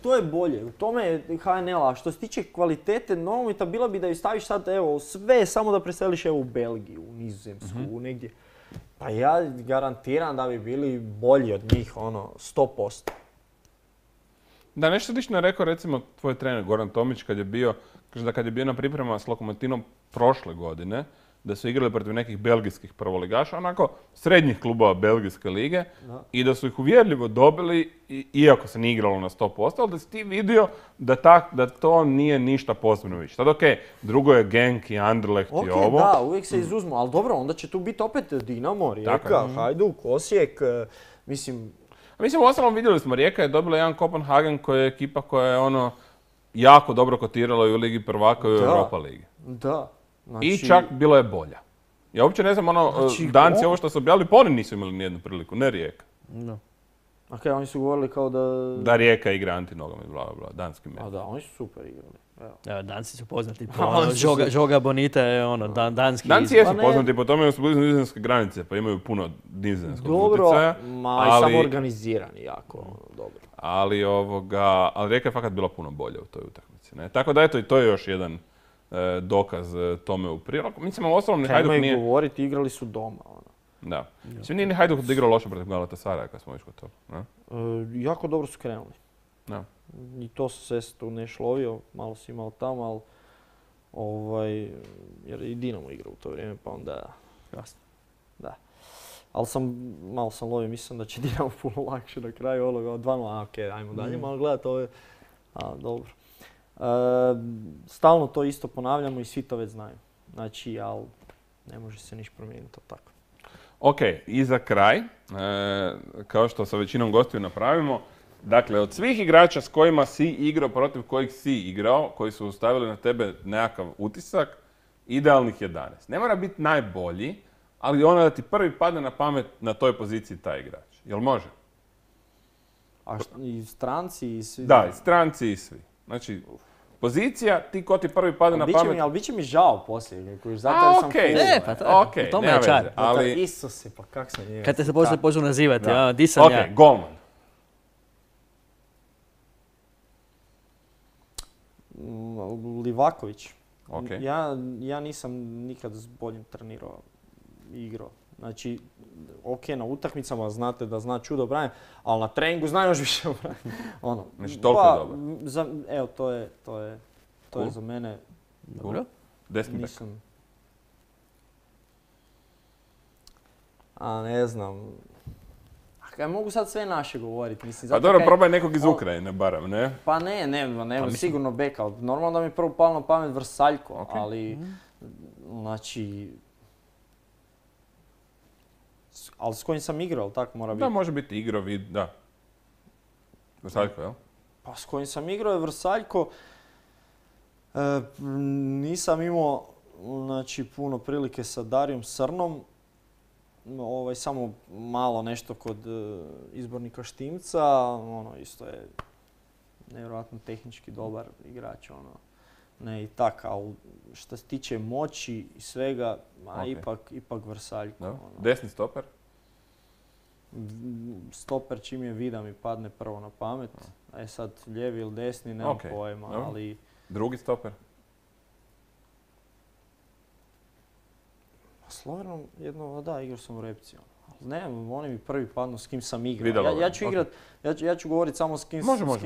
to je bolje, u tome je HNL, a što se tiče kvalitete nogometa, bila bi da ju staviš sad, evo, sve samo da preseliš evo u Belgiju, u Nizozemsku, negdje. Pa ja garantiram da bi bili bolji od njih, 100%. Da, nešto slično je rekao recimo tvoj trener Goran Tomić kad je bio, kaže da kad je bio na pripremama s Lokomotivom prošle godine, da su igrali protiv nekih belgijskih prvoligaša, onako srednjih klubova belgijske lige, i da su ih uvjerljivo dobili, iako se nije igralo na 100%, ali da si ti vidio da to nije ništa posebno više. Sad okej, drugo je Genk i Anderlecht i ovo. Da, uvijek se izuzmu, ali dobro, onda će tu biti opet Dinamo, Rijeka, Hajduk, Osijek, mislim... Mislim, uostalom vidjeli smo, Rijeka je dobila jedan Kopenhagen koja je ekipa koja je jako dobro kotirala i u Ligi prvaka i u Europa ligi. Da. Znači... I čak bilo je bolja. Ja uopće ne znam, Danci ovo što su objavili, pa oni nisu imali nijednu priliku, ne Rijeka. No. Ok, oni su govorili kao da... Da Rijeka igra antinogomet, bla, bla, danski med. A da, oni su super igrali. Evo, Danci su poznati po Joga Bonita je danski... Danci jesu poznati po tome, su blizu nizozemske granice, pa imaju puno nizozemskog utjecaja. Ali samo organizirani jako, dobro. Ali Rijeka je fakat bila puno bolja u toj utakmici. Ne? Tako da eto, i to je još jedan dokaz tome u prilog. Mislim, uostalom ni Hajduk nije... govoriti, igrali su doma. Da. Mislim, nije ni Hajduk igrao loše protiv Galatasaraja kad smo već kod toga. Jako dobro su krenuli. Da. I to se tu ne šlovio, malo si imao tamo, ali jer i Dinamo igra u to vrijeme, pa onda jasno. Da. Ali malo sam lovio, mislim da će Dinamo puno lakše na kraju ovoga, 2-0, okej, ajmo dalje, malo gledati ove, dobro. Stalno to isto ponavljamo i svi to već znaju. Znači, ali ne može se ništa promijeniti, to tako. Ok, i za kraj, kao što sa većinom gostiju napravimo, dakle, od svih igrača s kojima si igrao, protiv kojih si igrao, koji su ostavili na tebe nekakav utisak, idealnih 11. Ne mora biti najbolji, ali da ti prvi padne na pamet na toj poziciji taj igrač. Jel može? A i stranci i svi? Da, i stranci i svi. Znači, pozicija, ti ko ti prvi padne na pamet... Ali bit će mi žao poslije, koji zato sam okej, nema veze, ali... Isuse, pa kak sam njega... Kad te se poslije počnu nazivati, di sam ja? Ok, golman. Livaković. Okay. Ja nisam nikad s boljim trenirao i igrao. Znači, ok, na utakmicama znate da zna čudo branim, ali na treningu zna još više branim. Znači, toliko je dobro. Evo, to je za mene... Dobro. Desni bek. Ne znam. Ja mogu sad sve naše govoriti. Mislim, pa dobro, probaj nekog iz Ukrajine, barem, ne? Pa ne, sigurno beka. Normalno da mi prvo palo na pamet Vrsaljko, ali, znači... Ali s kojim sam igrao, tako mora biti? Da, može biti igrao, da. Vrsaljko, jel? Pa s kojim sam igrao je Vrsaljko. Nisam imao, znači, puno prilike sa Darijom Srnom. Samo malo nešto kod izbornika Štimca, isto je nevjerojatno tehnički dobar igrač, ne i tak, ali što se tiče moći i svega, ipak Vrsaljko. Desni stoper? Stoper čim je vida mi padne prvo na pamet, sad lijevi ili desni, nemam pojma, ali... Drugi stoper? Slovenom igrao sam u Repci. Ne, oni mi prvi padnu s kim sam igrao. Ja ću govoriti samo s kim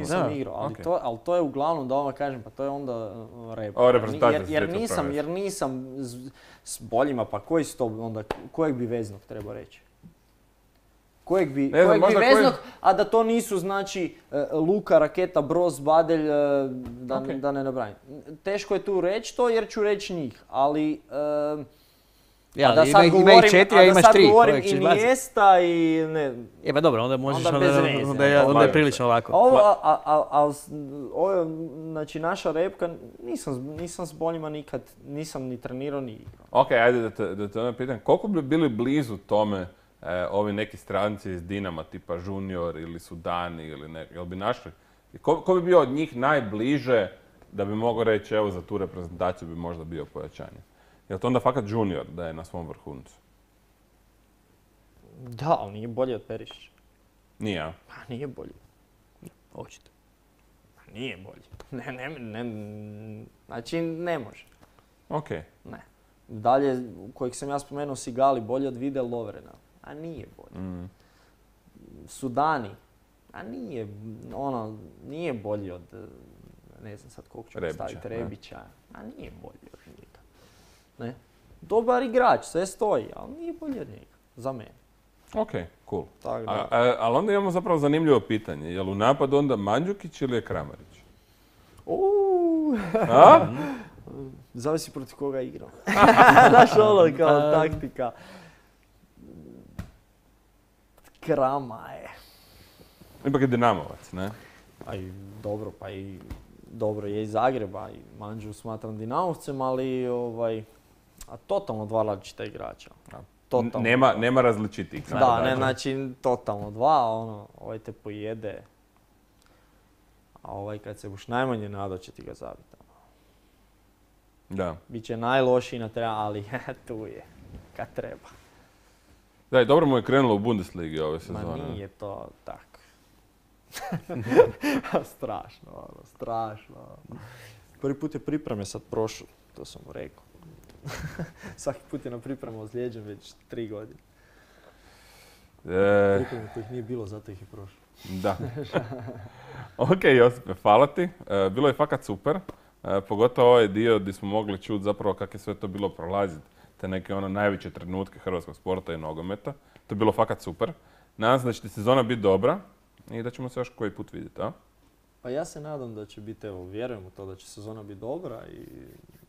sam igrao, ali to je uglavnom, da vam kažem, pa to je onda rep. Jer nisam s boljima, pa koji su to onda, kojeg bi veznog treba reći? Kojeg bi veznog, a da to nisu, znači, Luka, Raketa, Broz, Badelj, da ne nabrajim. Teško je tu reći to jer ću reći njih, ali... Ja, da sad govorim Iniesta i ne... Pa dobro, onda možeš, onda je prilično ovako. Ovo, znači naša repka, nisam s boljima nikad, nisam ni trenirao ni igrao. Ok, ajde da te onda pitam, koliko bi bili blizu tome ovi neki stranci iz Dinama, tipa Junior ili Sudani ili ne, jel bi našli? Ko bi bio od njih najbliže da bi mogao reći, evo za tu reprezentaciju bi možda bio pojačanje? Je li to onda fakat Junior da je na svom vrhuncu? Da, ali nije bolji od Perišića. Nije, a? Pa nije bolji. Očito. Nije bolji. Znači, ne može. Ok. Ne. Dalje, kojeg sam ja spomenuo, Sigali, bolji od Vide Lovrena. A nije bolji. Sudani. A nije bolji od, ne znam sad koliko ću staviti, Rebića. A nije bolji od njega. Ne? Dobar igrač, sve stoji, ali nije bolji od njega. Za mene. Ok, cool. Da. Ali onda imamo zapravo zanimljivo pitanje. Je li u napadu onda Mandžukić ili je Kramarić? A? Zavisi protiv koga igram. Znaš ono kao taktika. Krama je. Ipak je Dinamovac, ne? Dobro je iz Zagreba i Mandžu smatram Dinamovcem, ali totalno dva različita igrača. Nema različitih. Znači totalno dva, ovaj te pojede, a ovaj kad se buš najmanje nadao će ti ga zabiti. Da. Biće najlošiji na terenu, ali tu je, kad treba. Da, i dobro mu je krenulo u Bundesligi ove sezone. Ma nije to tako. Strašno. Prvi put je pripreme sad prošlo, to sam mu rekao. Svaki put je na pripremu ozlijeđen već 3 godine. Pripreme kojih nije bilo, zato ih je prošlo. Da. Ok, Josipe, hvala ti. Bilo je fakat super. Pogotovo ovaj dio gdje smo mogli čuti zapravo kako je sve to bilo prolaziti. Te neke najveće trenutke hrvatskog sporta i nogometa. To je bilo fakat super. Nadam se da će ti sezona biti dobra i da ćemo se još koji put vidjeti, a? Pa ja se nadam da će biti, vjerujem u to da će sezona biti dobra i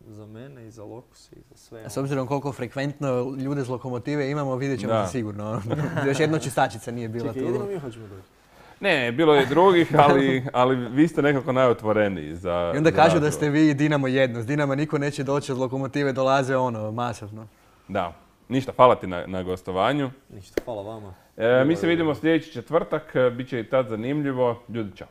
za mene i za Lokus i za sve. A s obzirom koliko frekventno ljude iz Lokomotive imamo, vidjet ćemo se sigurno. Još jedna čistačica nije bila tu. Čekaj, jedino mi hoćemo doći. Ne, bilo je drugih, ali vi ste nekako najotvoreniji za... I onda kažu da ste vi Dinamo jedno. S Dinama niko neće doći, od Lokomotive dolaze masovno. Da. Ništa, hvala ti na gostovanju. Ništa, hvala vama. Mi se vidimo sljedeći četvrtak, bit će i tad zanimljivo. Ljudi, čao.